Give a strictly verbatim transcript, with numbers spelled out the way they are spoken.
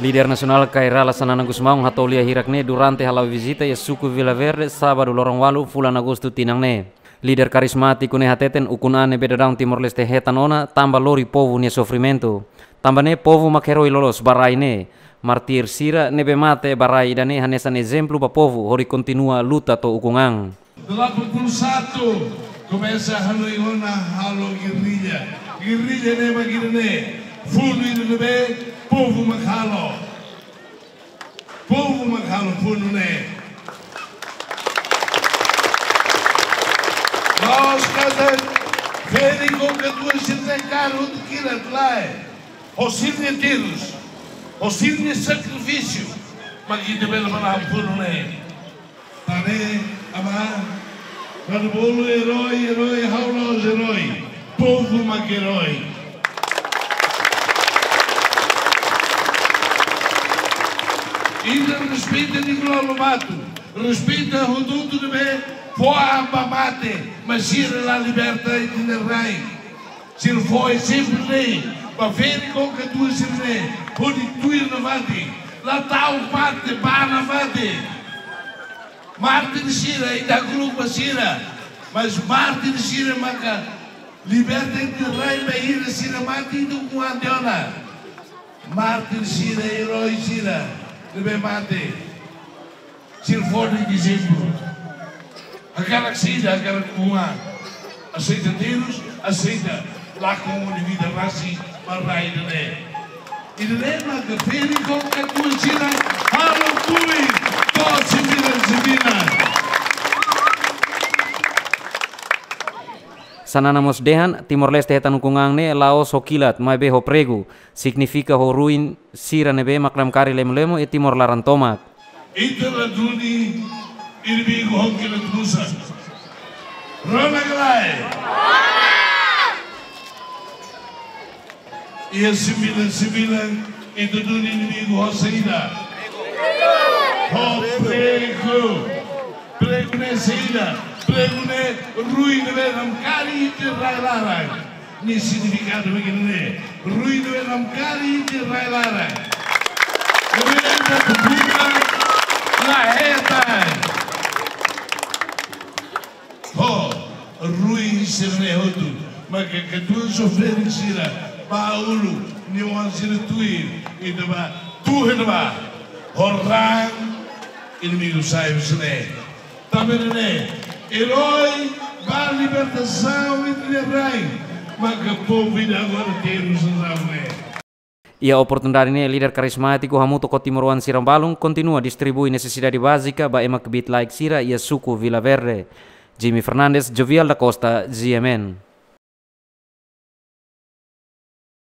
Líder nasionál Kay Rala Xanana Gusmão hato'o lia hirak ne'e durante hala'o vizita iha suku Vila Verde, sábadu loron ualu fulan Agostu tinan ne'e. Líder karizmátiku ne'e hateten ukun-an ne'ebé daudaun Timor-Leste hetan ona tanba lori povu nia sofrimentu. Tanba ne'e povu mak herói loloos ba rai ne'e. Mártir sira ne'ebé mate ba rai ida-ne'e hanesan ezemplu ba povu hodi kontinua luta to'o ukun-an. Delapan puluh satu komesa hanoin ona halo gerrilla. Gerrilla ne'e mak ida-ne'e. Funu ida ne'ebé povu mak halo. Povu mak halo funu ne'e. La'ós katak ferik ho katuas sira-ne'e kaer hotu kilat, lae. Ho sira-nia terus, ho sira-nia sakrifísiu, mak ita bele manán funu ne'e. Tane, amá, para bolu herói, herói, ha'u la'ós herói. Povu mak herói. Ita respeita Nicolau Lobato, respeita hotu-hotu ne'ebé fó an ba mate, mas sira la liberta ita-nia rain. Sira fó ezemplu ne'e ba ferik ho katuas sira-ne'e, hodi tuir nafatin, la ta'uk mate, bá nafatin. Mártir sira, ita hakluk ba sira, mas mártir sira maka liberta ita-nia rain bainhira sira mate ita ukun-an tiha ona. Mártir sira, herói sira ne'ebé mate. Sira fó de'it ezemplu. Hakarak saida, hakarak ukun-an. Aseita terus, aseita lakon nia vida rasik ba rai ida-ne'e. Ida-ne'e maka ferik ho katuas sira halo tuir to'o sembilan sembilan. Xanana mós dehan, Timor-Leste hetan ukun-an ne'e la'ós ho kilat, maibé ho pregu. Signifika ho ruin sira ne'ebé mak lamkari lemo-lemo iha Timor laran tomak. Ita la duni inimigu ho kilat musak. Rona ka lae? Iha sembilan sembilan ita duni inimigu ho saida? Ho pregu. Pregu ne'e saida? Pregu ne'e ruin ne'ebé lamkari ita-nia rai laran. Nia signifikadu mak ida-ne'e. Ruin ne'ebé lamkari ita-nia rai laran. Ne'ebé ita buka la hetan. Ho, ruin sira-ne'e hotu. Maka katuas ho ferik sira bá uluk, nia oan sira tuir, ita bá tuir ba. Ho raan inimigu sai husi ne'e. Tanba ne'e, herói ba libertasaun ita-nia rain, maka povu ida agora terus raan ne'e. Iha oportunidade ne'e, líder karizmátiku hamutuk ho timoroan sira balun kontinua distribui nesesidade bázika ba ema kbiit-laek sira iha suku Vila Verde. Jimmy Fernandes, Jovial da Costa, G M N.